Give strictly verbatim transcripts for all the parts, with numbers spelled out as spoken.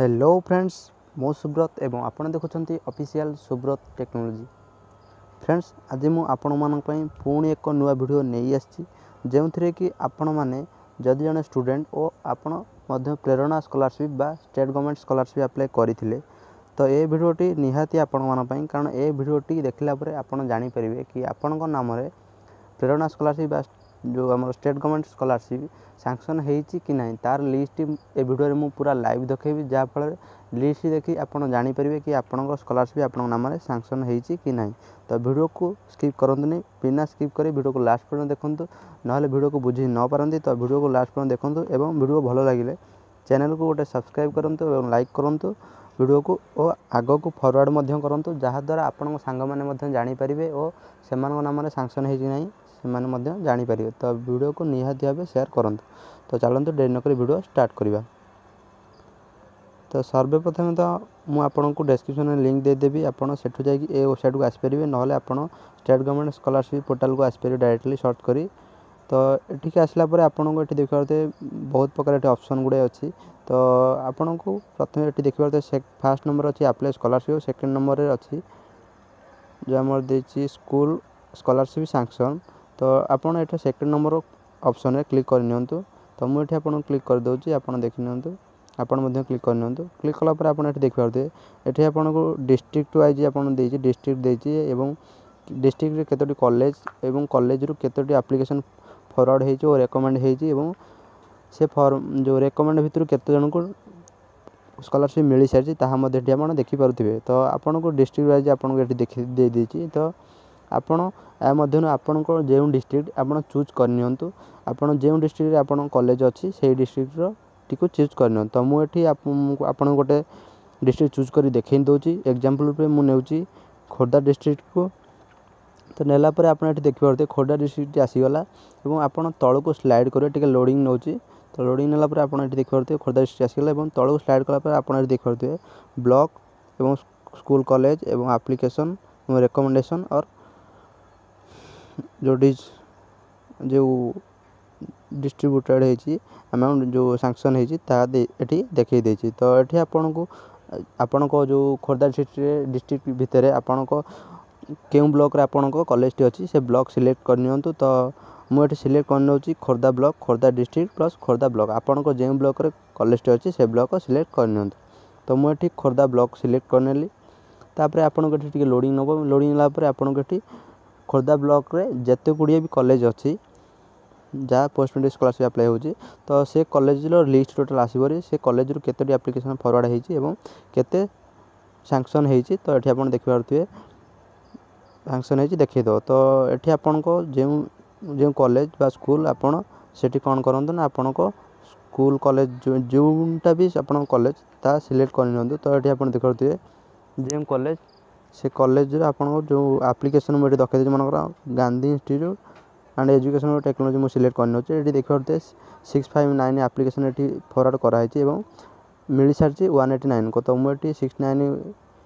hello friends ମୁଁ ସୁବ୍ରତ ଏବଂ ଆପଣ ଦେଖୁଛନ୍ତି ଅଫିସିଆଲ୍ ସୁବ୍ରତ ଟେକ୍ନୋଲୋଜି ଫ୍ରେଣ୍ଡସ୍ ଆଜି ମୁଁ ଆପଣମାନଙ୍କ ପାଇଁ ପୁଣି ଏକ ନୂଆ ଭିଡ଼ିଓ ନେଇ ଆସିଛି ଯେଉଁଥିରେ କି ଆପଣମାନେ ଯଦି ଜଣେ ଷ୍ଟୁଡ଼େଣ୍ଟ ଓ ଆପଣ ମଧ୍ୟ ପ୍ରେରଣା ସ୍କଲାରସିପ୍ ବା ଷ୍ଟେଟ୍ ଗଭର୍ଣ୍ଣମେଣ୍ଟ ସ୍କଲାରସିପ୍ ଆପ୍ଲାଏ କରିଥିଲେ ତ ଏ ଭିଡ଼ିଓଟି ନିହାତି ଆପଣମାନଙ୍କ ପାଇଁ କାରଣ ଏ ଭିଡ଼ିଓଟି ଦେଖିଲା ପରେ ଆପଣ ଜାଣିପାରିବେ କି ଆପଣଙ୍କ ନାମରେ ପ୍ରେରଣା ସ୍କଲାରସିପ୍ ବା ଯେଉଁ ଆମର ଷ୍ଟେଟ୍ ଗଭର୍ଣ୍ଣମେଣ୍ଟ ସ୍କଲାରସିପ୍ ସାଙ୍କସନ୍ ହେଇଛି କି ନାହିଁ ତାର ଲିଷ୍ଟ ଏ ଭିଡ଼ିଓରେ ମୁଁ ପୁରା ଲାଇଭ୍ ଦେଖେଇବି ଯାହାଫଳରେ ଲିଷ୍ଟ ଦେଖି ଆପଣ ଜାଣିପାରିବେ କି ଆପଣଙ୍କ ସ୍କଲାରସିପ୍ ଆପଣଙ୍କ ନାମରେ ସାଙ୍କସନ୍ ହେଇଛି କି ନାହିଁ ତ ଭିଡ଼ିଓକୁ ସ୍କିପ୍ କରନ୍ତୁନି ବିନା ସ୍କିପ୍ କରି ଭିଡ଼ିଓକୁ ଲାଷ୍ଟ ପର୍ଯ୍ୟନ୍ତ ଦେଖନ୍ତୁ ନହେଲେ ଭିଡ଼ିଓକୁ ବୁଝି ନ ପାରନ୍ତି ତ ଭିଡ଼ିଓକୁ ଲାଷ୍ଟ ପର୍ଯ୍ୟନ୍ତ ଦେଖନ୍ତୁ ଏବଂ ଭିଡ଼ିଓ ଭଲ ଲାଗିଲେ ଚ୍ୟାନେଲକୁ ଗୋଟେ ସବସ୍କ୍ରାଇବ୍ କରନ୍ତୁ ଏବଂ ଲାଇକ୍ କରନ୍ତୁ ଭିଡ଼ିଓକୁ ଓ ଆଗକୁ ଫରୱାର୍ଡ଼ ମଧ୍ୟ କରନ୍ତୁ ଯାହାଦ୍ୱାରା ଆପଣଙ୍କ ସାଙ୍ଗମାନେ ମଧ୍ୟ ଜାଣିପାରିବେ ଓ ସେମାନଙ୍କ ନାମରେ ସାଙ୍କସନ୍ ହେଇଛି ନାହିଁ ସେମାନେ ମଧ୍ୟ ଜାଣିପାରିବେ ତ ଭିଡ଼ିଓକୁ ନିହାତି ଭାବେ ସେୟାର କରନ୍ତୁ ତ ଚାଲନ୍ତୁ ଡେରି ନକରି ଭିଡ଼ିଓ ଷ୍ଟାର୍ଟ କରିବା ତ ସର୍ବେ ପ୍ରଥମେ ତ ମୁଁ ଆପଣଙ୍କୁ ଡେସ୍କ୍ରିପସନ୍ରେ ଲିଙ୍କ୍ ଦେଇଦେବି ଆପଣ ସେଠୁ ଯାଇକି ଏ ୱେବସାଇଟ୍କୁ ଆସିପାରିବେ ନହେଲେ ଆପଣ ଷ୍ଟେଟ୍ ଗଭର୍ଣ୍ଣମେଣ୍ଟ ସ୍କଲାରସିପ୍ ପୋର୍ଟାଲକୁ ଆସିପାରିବେ ଡାଇରେକ୍ଟଲି ସର୍ଚ୍ଚ କରି ତ ଏଠିକି ଆସିଲା ପରେ ଆପଣଙ୍କୁ ଏଠି ଦେଖିପାରୁଥିବେ ବହୁତ ପ୍ରକାର ଏଠି ଅପସନ୍ ଗୁଡ଼ାଏ ଅଛି ତ ଆପଣଙ୍କୁ ପ୍ରଥମେ ଏଠି ଦେଖିପାରୁଥିବେ ଫାର୍ଷ୍ଟ ନମ୍ବର ଅଛି ଆପ୍ଲାଏ ସ୍କଲାରସିପ୍ ସେକେଣ୍ଡ ନମ୍ବରରେ ଅଛି ଯେଉଁ ଆମର ଦେଇଛି ସ୍କୁଲ ସ୍କଲାରସିପ୍ ସାଙ୍କସନ୍ ତ ଆପଣ ଏଠି ସେକେଣ୍ଡ ନମ୍ବର ଅପସନ୍ରେ କ୍ଲିକ୍ କରିନିଅନ୍ତୁ ତ ମୁଁ ଏଠି ଆପଣଙ୍କୁ କ୍ଲିକ୍ କରିଦେଉଛି ଆପଣ ଦେଖିନିଅନ୍ତୁ ଆପଣ ମଧ୍ୟ କ୍ଲିକ୍ କରିନିଅନ୍ତୁ କ୍ଲିକ୍ କଲା ପରେ ଆପଣ ଏଠି ଦେଖିପାରୁଥିବେ ଏଠି ଆପଣଙ୍କୁ ଡିଷ୍ଟ୍ରିକ୍ଟ ୱାଇଜ୍ ଆପଣ ଦେଇଛି ଡିଷ୍ଟ୍ରିକ୍ଟ ଦେଇଛି ଏବଂ ଡିଷ୍ଟ୍ରିକ୍ଟରେ କେତୋଟି କଲେଜ ଏବଂ କଲେଜରୁ କେତୋଟି ଆପ୍ଲିକେସନ୍ ଫରୱାର୍ଡ଼ ହେଇଛି ଓ ରେକମେଣ୍ଡ ହେଇଛି ଏବଂ ସେ ଫର୍ମ ଯେଉଁ ରେକମେଣ୍ଡ ଭିତରୁ କେତେ ଜଣଙ୍କୁ ସ୍କଲାରସିପ୍ ମିଳିସାରିଛି ତାହା ମଧ୍ୟ ଏଠି ଆପଣ ଦେଖିପାରୁଥିବେ ତ ଆପଣଙ୍କୁ ଡିଷ୍ଟ୍ରିକ୍ଟ ୱାଇଜ୍ ଆପଣଙ୍କୁ ଏଠି ଦେଖି ଦେଇଦେଇଛି ତ ଆପଣ ଏହା ମଧ୍ୟରୁ ଆପଣଙ୍କ ଯେଉଁ ଡିଷ୍ଟ୍ରିକ୍ଟ ଆପଣ ଚୁଜ୍ କରିନିଅନ୍ତୁ ଆପଣ ଯେଉଁ ଡିଷ୍ଟ୍ରିକ୍ଟରେ ଆପଣଙ୍କ କଲେଜ ଅଛି ସେଇ ଡିଷ୍ଟ୍ରିକ୍ଟର ଟିକୁ ଚୁଜ୍ କରିନିଅନ୍ତୁ ତ ମୁଁ ଏଠି ଆପଣଙ୍କୁ ଗୋଟେ ଡିଷ୍ଟ୍ରିକ୍ଟ ଚୁଜ୍ କରି ଦେଖାଇ ଦେଉଛି ଏକ୍ଜାମ୍ପଲ୍ ରୂପେ ମୁଁ ନେଉଛି ଖୋର୍ଦ୍ଧା ଡିଷ୍ଟ୍ରିକ୍ଟକୁ ତ ନେଲା ପରେ ଆପଣ ଏଠି ଦେଖିପାରୁଥିବେ ଖୋର୍ଦ୍ଧା ଡିଷ୍ଟ୍ରିକ୍ଟଟି ଆସିଗଲା ଏବଂ ଆପଣ ତଳକୁ ସ୍ଲାଇଡ଼୍ କରିବେ ଟିକେ ଲୋଡ଼ିଂ ନେଉଛି ତ ଲୋଡ଼ିଂ ନେଲା ପରେ ଆପଣ ଏଠି ଦେଖିପାରୁଥିବେ ଖୋର୍ଦ୍ଧା ଡିଷ୍ଟ୍ରିକ୍ଟ ଆସିଗଲା ଏବଂ ତଳକୁ ସ୍ଲାଇଡ଼୍ କଲା ପରେ ଆପଣ ଏଠି ଦେଖିପାରୁଥିବେ ବ୍ଲକ୍ ଏବଂ ସ୍କୁଲ କଲେଜ ଏବଂ ଆପ୍ଲିକେସନ୍ ଏବଂ ରେକମେଣ୍ଡେସନ୍ ଅର୍ ଯେଉଁଠି ଯେଉଁ ଡିଷ୍ଟ୍ରିବ୍ୟୁଟେଡ଼୍ ହେଇଛି ଆମାଉଣ୍ଟ ଯେଉଁ ସାଙ୍କସନ୍ ହେଇଛି ତାହା ଏଠି ଦେଖାଇ ଦେଇଛି ତ ଏଠି ଆପଣଙ୍କୁ ଆପଣଙ୍କ ଯେଉଁ ଖୋର୍ଦ୍ଧା ଡିଷ୍ଟ୍ରିକ୍ଟରେ ଡିଷ୍ଟ୍ରିକ୍ଟ ଭିତରେ ଆପଣଙ୍କ କେଉଁ ବ୍ଲକ୍ରେ ଆପଣଙ୍କ କଲେଜଟି ଅଛି ସେ ବ୍ଲକ୍ ସିଲେକ୍ଟ କରିନିଅନ୍ତୁ ତ ମୁଁ ଏଠି ସିଲେକ୍ଟ କରିନେଉଛି Khordha block Khordha district plus Khordha block ଆପଣଙ୍କ ଯେଉଁ ବ୍ଲକ୍ରେ କଲେଜଟି ଅଛି ସେ ବ୍ଲକ୍ ସିଲେକ୍ଟ କରିନିଅନ୍ତୁ ତ ମୁଁ ଏଠି ଖୋର୍ଦ୍ଧା ବ୍ଲକ୍ ସିଲେକ୍ଟ କରିନେଲି ତାପରେ ଆପଣଙ୍କ ଏଠି ଟିକେ ଲୋଡ଼ିଂ ନେବ ଲୋଡ଼ିଂ ନେଲା ପରେ ଆପଣଙ୍କ ଏଠି ଖୋର୍ଦ୍ଧା ବ୍ଲକ୍ରେ ଯେତେ ଗୁଡ଼ିଏ ବି କଲେଜ ଅଛି ଯାହା ପୋଷ୍ଟ ମେଟ୍ରିକ୍ ସ୍କଲାରସିପ୍ ଆପ୍ଲାଏ ହେଉଛି ତ ସେ କଲେଜର ଲିଷ୍ଟ ଟୋଟାଲ୍ ଆସିବ ସେ କଲେଜରୁ କେତୋଟି ଆପ୍ଲିକେସନ୍ ଫରୱାର୍ଡ଼ ହେଇଛି ଏବଂ କେତେ ସାଙ୍କସନ୍ ହେଇଛି ତ ଏଠି ଆପଣ ଦେଖିପାରୁଥିବେ ସାଙ୍କସନ୍ ହେଇଛି ଦେଖାଇଦେବ ତ ଏଠି ଆପଣଙ୍କ ଯେଉଁ ଯେଉଁ କଲେଜ ବା ସ୍କୁଲ ଆପଣ ସେଠି କ'ଣ କରନ୍ତୁ ନା ଆପଣଙ୍କ ସ୍କୁଲ କଲେଜ ଯେଉଁଟା ବି ଆପଣଙ୍କ କଲେଜ ତାହା ସିଲେକ୍ଟ କରିନିଅନ୍ତୁ ତ ଏଠି ଆପଣ ଦେଖିପାରୁଥିବେ ଯେଉଁ କଲେଜ ସେ କଲେଜରେ ଆପଣଙ୍କ ଯେଉଁ ଆପ୍ଲିକେସନ୍ ମୁଁ ଏଠି ଦେଖାଇ ଦେଉଛି ମନେକର Gandhi institute and education technology ମୁଁ ସିଲେକ୍ଟ କରିନେଉଛି ଏଠି ଦେଖିପାରୁଥିବେ ସିକ୍ସ ଫାଇଭ୍ ନାଇନ୍ ଆପ୍ଲିକେସନ୍ ଏଠି ଫରୱାର୍ଡ଼ କରାହେଇଛି ଏବଂ ମିଳିସାରିଛି ୱାନ୍ ଏଇଟି ନାଇନ୍ ତ ମୁଁ ଏଠି ସିକ୍ସ ନାଇନ୍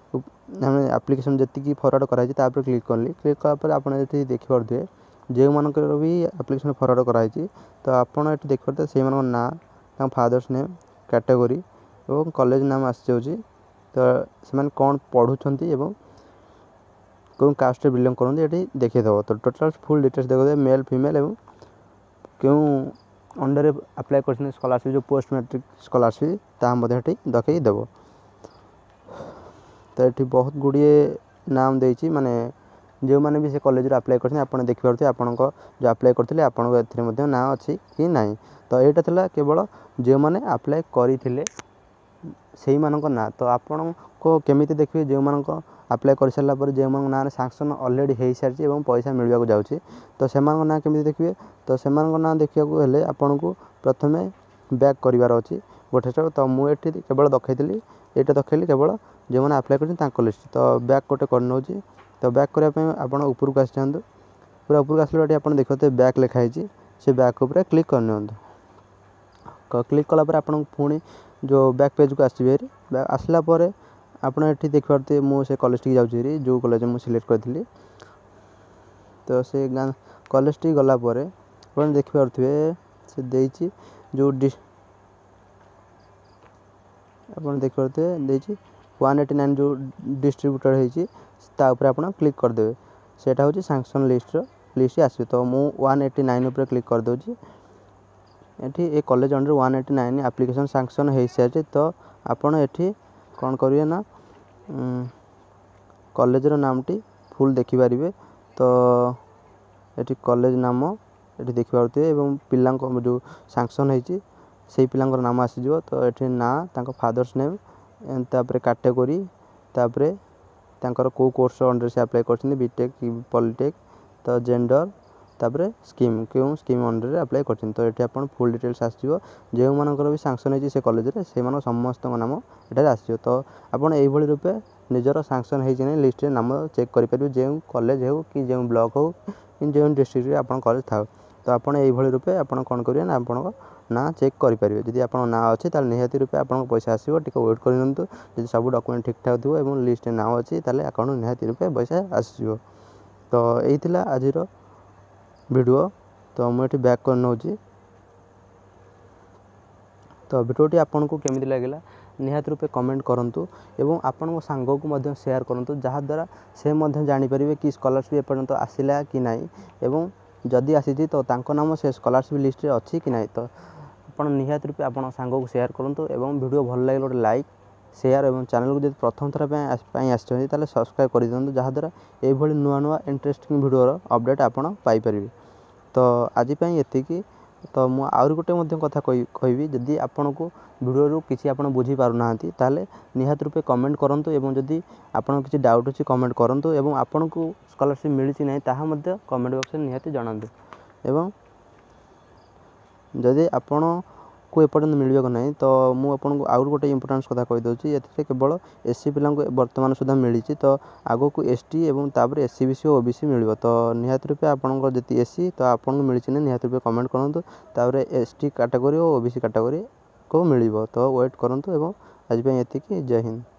ଆମେ ଆପ୍ଲିକେସନ୍ ଯେତିକି ଫରୱାର୍ଡ଼ କରାହେଇଛି ତା ଉପରେ କ୍ଲିକ୍ କଲି କ୍ଲିକ୍ କଲା ପରେ ଆପଣ ଏଠି ଦେଖିପାରୁଥିବେ ଯେଉଁମାନଙ୍କର ବି ଆପ୍ଲିକେସନ୍ ଫରୱାର୍ଡ଼ କରାହେଇଛି ତ ଆପଣ ଏଠି ଦେଖିପାରୁଥିବେ ସେଇମାନଙ୍କ ନାଁ ତାଙ୍କ ଫାଦର୍ସ ନେମ୍ କ୍ୟାଟେଗୋରୀ ଏବଂ କଲେଜ ନାମ ଆସିଯାଉଛି ତ ସେମାନେ କ'ଣ ପଢ଼ୁଛନ୍ତି ଏବଂ କେଉଁ କାଷ୍ଟରେ ବିଲଙ୍ଗ କରନ୍ତି ଏଠି ଦେଖାଇଦେବ ତ ଟୋଟାଲ୍ ଫୁଲ୍ ଡିଟେଲ୍ସ ଦେଖାଇଦେବ ମେଲ୍ ଫିମେଲ୍ ଏବଂ କେଉଁ ଅଣ୍ଡରରେ ଆପ୍ଲାଏ କରିଛନ୍ତି ସ୍କଲାରସିପ୍ ଯେଉଁ ପୋଷ୍ଟ ମ୍ୟାଟ୍ରିକ୍ ସ୍କଲାରସିପ୍ ତାହା ମଧ୍ୟ ଏଠି ଦେଖାଇ ଦେବ ତ ଏଠି ବହୁତ ଗୁଡ଼ିଏ ନାମ ଦେଇଛି ମାନେ ଯେଉଁମାନେ ବି ସେ କଲେଜରୁ ଆପ୍ଲାଏ କରିଛନ୍ତି ଆପଣ ଦେଖିପାରୁଥିବେ ଆପଣଙ୍କ ଯେଉଁ ଆପ୍ଲାଏ କରିଥିଲେ ଆପଣଙ୍କ ଏଥିରେ ମଧ୍ୟ ନାଁ ଅଛି କି ନାହିଁ ତ ଏଇଟା ଥିଲା କେବଳ ଯେଉଁମାନେ ଆପ୍ଲାଏ କରିଥିଲେ ସେଇମାନଙ୍କ ନାଁ ତ ଆପଣଙ୍କ କେମିତି ଦେଖିବେ ଯେଉଁମାନଙ୍କ ଆପ୍ଲାଏ କରିସାରିଲା ପରେ ଯେଉଁମାନଙ୍କ ନାଁରେ ସାଙ୍କସନ୍ ଅଲରେଡ଼ି ହେଇସାରିଛି ଏବଂ ପଇସା ମିଳିବାକୁ ଯାଉଛି ତ ସେମାନଙ୍କ ନାଁ କେମିତି ଦେଖିବେ ତ ସେମାନଙ୍କ ନାଁ ଦେଖିବାକୁ ହେଲେ ଆପଣଙ୍କୁ ପ୍ରଥମେ ବ୍ୟାକ୍ କରିବାର ଅଛି ଗୋଟେ ଷ୍ଟେପ୍ ତ ମୁଁ ଏଠି କେବଳ ଦେଖାଇଥିଲି ଏଇଟା ଦେଖାଇଲି କେବଳ ଯେଉଁମାନେ ଆପ୍ଲାଏ କରିଛନ୍ତି ତାଙ୍କ ଲିଷ୍ଟ ତ ବ୍ୟାକ୍ ଗୋଟେ କରିନେଉଛି ତ ବ୍ୟାକ୍ କରିବା ପାଇଁ ଆପଣ ଉପରକୁ ଆସିଯାଆନ୍ତୁ ପୁରା ଉପରକୁ ଆସିଲା ଏଠି ଆପଣ ଦେଖିପାରୁଥିବେ ବ୍ୟାକ୍ ଲେଖା ହେଇଛି ସେ ବ୍ୟାକ୍ ଉପରେ କ୍ଲିକ୍ କରିନିଅନ୍ତୁ କ୍ଲିକ୍ କଲା ପରେ ଆପଣଙ୍କୁ ପୁଣି ଯେଉଁ ବ୍ୟାକ୍ ପେଜ୍କୁ ଆସିବେ ହେରି ଆସିଲା ପରେ ଆପଣ ଏଠି ଦେଖିପାରୁଥିବେ ମୁଁ ସେ କଲେଜଟିକି ଯାଉଛି ହେରି ଯେଉଁ କଲେଜ ମୁଁ ସିଲେକ୍ଟ କରିଥିଲି ତ ସେ ଗାଁ କଲେଜଟି ଗଲା ପରେ ଆପଣ ଦେଖିପାରୁଥିବେ ସେ ଦେଇଛି ଯେଉଁ ଆପଣ ଦେଖିପାରୁଥିବେ ଦେଇଛି ୱାନ୍ ଏଇଟି ନାଇନ୍ ଯେଉଁ ଡିଷ୍ଟ୍ରିବ୍ୟୁଟେଡ଼ ହେଇଛି ତା ଉପରେ ଆପଣ କ୍ଲିକ୍ କରିଦେବେ ସେଇଟା ହେଉଛି ସାଙ୍କସନ୍ ଲିଷ୍ଟର ଲିଷ୍ଟ ଆସିବ ତ ମୁଁ ୱାନ୍ ଏଇଟି ନାଇନ୍ ଉପରେ କ୍ଲିକ୍ କରିଦେଉଛି ଏଠି ଏ college under one eighty nine application sanction ହେଇସାରିଛି ତ ଆପଣ ଏଠି କ'ଣ କରିବେ ନା କଲେଜର ନାମଟି ଫୁଲ୍ ଦେଖିପାରିବେ ତ ଏଠି କଲେଜ ନାମ ଏଠି ଦେଖିପାରୁଥିବେ ଏବଂ ପିଲାଙ୍କ ଯେଉଁ ସାଙ୍କସନ୍ ହେଇଛି ସେଇ ପିଲାଙ୍କର ନାମ ଆସିଯିବ ତ ଏଠି ନାଁ ତାଙ୍କ ଫାଦର୍ସ ନେମ୍ ତାପରେ କାଟେଗୋରୀ ତାପରେ ତାଙ୍କର କେଉଁ କୋର୍ସ ଅଣ୍ଡରରେ ସେ ଆପ୍ଲାଏ କରିଛନ୍ତି ବିଟେକ୍ କି ପଲିଟେକ୍ ତ ଜେଣ୍ଡର ତାପରେ ସ୍କିମ୍ କେଉଁ ସ୍କିମ୍ ଅଣ୍ଡରରେ ଆପ୍ଲାଏ କରିଛନ୍ତି ତ ଏଠି ଆପଣ ଫୁଲ୍ ଡିଟେଲ୍ସ ଆସିଯିବ ଯେଉଁମାନଙ୍କର ବି ସାଙ୍କସନ୍ ହେଇଛି ସେ କଲେଜରେ ସେମାନଙ୍କ ସମସ୍ତଙ୍କ ନାମ ଏଠାରେ ଆସିଯିବ ତ ଆପଣ ଏଇଭଳି ରୂପେ ନିଜର ସାଙ୍କସନ୍ ହେଇଛି ନାହିଁ ଲିଷ୍ଟରେ ନାମ ଚେକ୍ କରିପାରିବେ ଯେଉଁ କଲେଜ ହେଉ କି ଯେଉଁ ବ୍ଲକ୍ ହେଉ କି ଯେଉଁ ଡିଷ୍ଟ୍ରିକ୍ଟରେ ଆପଣ କଲେଜ ଥାଉ ତ ଆପଣ ଏଇଭଳି ରୂପେ ଆପଣ କ'ଣ କରିବେ ନା ଆପଣଙ୍କ ନାଁ ଚେକ୍ କରିପାରିବେ ଯଦି ଆପଣଙ୍କ ନାଁ ଅଛି ତାହେଲେ ନିହାତି ରୂପେ ଆପଣଙ୍କ ପଇସା ଆସିବ ଟିକେ ୱେଟ୍ କରିନିଅନ୍ତୁ ଯଦି ସବୁ ଡକୁମେଣ୍ଟ ଠିକ୍ଠାକ୍ ଥିବ ଏବଂ ଲିଷ୍ଟରେ ନାଁ ଅଛି ତାହେଲେ ଆକାଉଣ୍ଟ ନିହାତି ରୂପେ ପଇସା ଆସିଯିବ ତ ଏଇ ଥିଲା ଆଜିର ଭିଡ଼ିଓ ତ ମୁଁ ଏଠି ବ୍ୟାକ୍ କରି ନେଉଛି ତ ଭିଡ଼ିଓଟି ଆପଣଙ୍କୁ କେମିତି ଲାଗିଲା ନିହାତି ରୂପେ କମେଣ୍ଟ କରନ୍ତୁ ଏବଂ ଆପଣଙ୍କ ସାଙ୍ଗକୁ ମଧ୍ୟ ସେୟାର କରନ୍ତୁ ଯାହାଦ୍ୱାରା ସେ ମଧ୍ୟ ଜାଣିପାରିବେ କି ସ୍କଲାରସିପ୍ ଏପର୍ଯ୍ୟନ୍ତ ଆସିଲା କି ନାହିଁ ଏବଂ ଯଦି ଆସିଛି ତ ତାଙ୍କ ନାମ ସେ ସ୍କଲାରସିପ୍ ଲିଷ୍ଟରେ ଅଛି କି ନାହିଁ ତ ଆପଣ ନିହାତି ରୂପେ ଆପଣ ସାଙ୍ଗକୁ ସେୟାର କରନ୍ତୁ ଏବଂ ଭିଡ଼ିଓ ଭଲ ଲାଗିଲେ ଗୋଟେ ଲାଇକ୍ ସେୟାର ଏବଂ ଚ୍ୟାନେଲକୁ ଯଦି ପ୍ରଥମ ଥର ପାଇଁ ପାଇଁ ଆସିଛନ୍ତି ତାହେଲେ ସବସ୍କ୍ରାଇବ୍ କରିଦିଅନ୍ତୁ ଯାହାଦ୍ୱାରା ଏଇଭଳି ନୂଆ ନୂଆ ଇଣ୍ଟରେଷ୍ଟିଂ ଭିଡ଼ିଓର ଅପଡ଼େଟ୍ ଆପଣ ପାଇପାରିବେ ତ ଆଜି ପାଇଁ ଏତିକି ତ ମୁଁ ଆହୁରି ଗୋଟେ ମଧ୍ୟ କଥା କହିବି ଯଦି ଆପଣଙ୍କୁ ଭିଡ଼ିଓରୁ କିଛି ଆପଣ ବୁଝିପାରୁନାହାନ୍ତି ତାହେଲେ ନିହାତି ରୂପେ କମେଣ୍ଟ କରନ୍ତୁ ଏବଂ ଯଦି ଆପଣଙ୍କ କିଛି ଡାଉଟ୍ ଅଛି କମେଣ୍ଟ କରନ୍ତୁ ଏବଂ ଆପଣଙ୍କୁ ସ୍କଲାରସିପ୍ ମିଳିଛି ନାହିଁ ତାହା ମଧ୍ୟ କମେଣ୍ଟ ବକ୍ସରେ ନିହାତି ଜଣାନ୍ତୁ ଏବଂ ଯଦି ଆପଣଙ୍କୁ ଏପର୍ଯ୍ୟନ୍ତ ମିଳିବାକୁ ନାହିଁ ତ ମୁଁ ଆପଣଙ୍କୁ ଆହୁରି ଗୋଟେ ଇମ୍ପୋର୍ଟାନ୍ସ କଥା କହିଦେଉଛି ଏଥିରେ କେବଳ ଏସ୍ ସି ପିଲାଙ୍କୁ ବର୍ତ୍ତମାନ ସୁଦ୍ଧା ମିଳିଛି ତ ଆଗକୁ ଏସ୍ ଟି ଏବଂ ତାପରେ ଏସ୍ ଇ ବି ସି ଓ ଓ ବି ସି ମିଳିବ ତ ନିହାତି ରୂପେ ଆପଣଙ୍କର ଯଦି ଏସ୍ ସି ତ ଆପଣଙ୍କୁ ମିଳିଛି ନା ନିହାତି ରୂପେ କମେଣ୍ଟ କରନ୍ତୁ ତାପରେ ଏସ୍ ଟି କାଟାଗୋରୀ ଓ ଓ ବି ସି କାଟାଗୋରୀକୁ ମିଳିବ ତ ୱେଟ୍ କରନ୍ତୁ ଏବଂ ଆଜି ପାଇଁ ଏତିକି ଜୟ ହିନ୍ଦ